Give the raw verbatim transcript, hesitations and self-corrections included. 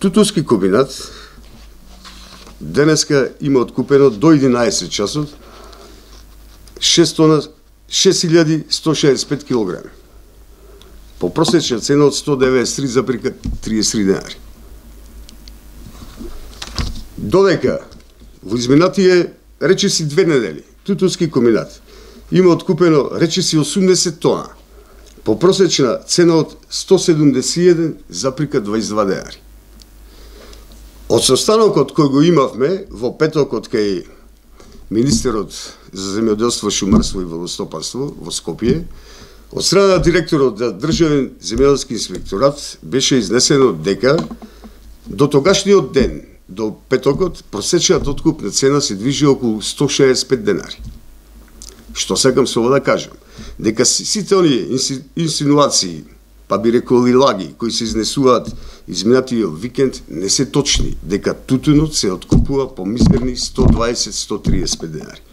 Тутунски комбинат денеска има откупено до единаесет часот шест илјади сто шеесет и пет килограми. По просечна цена од сто деветдесет и три запирка триесет и три денари. Додека во изминатие речиси две недели Тутунски комбинат има откупено речиси осумдесет тона по просечна цена од сто седумдесет и еден запирка дваесет и два денари. Од состанокот кој го имавме во петокот кај министерот за земјоделство, шумарство и водостопанство во Скопје, од страна на директорот на Државен земјоделски инспекторат беше изнесено дека до тогашниот ден, до петокот, просечната откупна цена се движи околу сто шеесет и пет денари. Што сакам со ова да кажам? Дека сите оние инсинуации, па би рекол и лаги, кои се изнесуваат изминатиот викенд, не се точни, дека тутунот се откупува по мизерни сто дваесет до сто триесет и пет денари.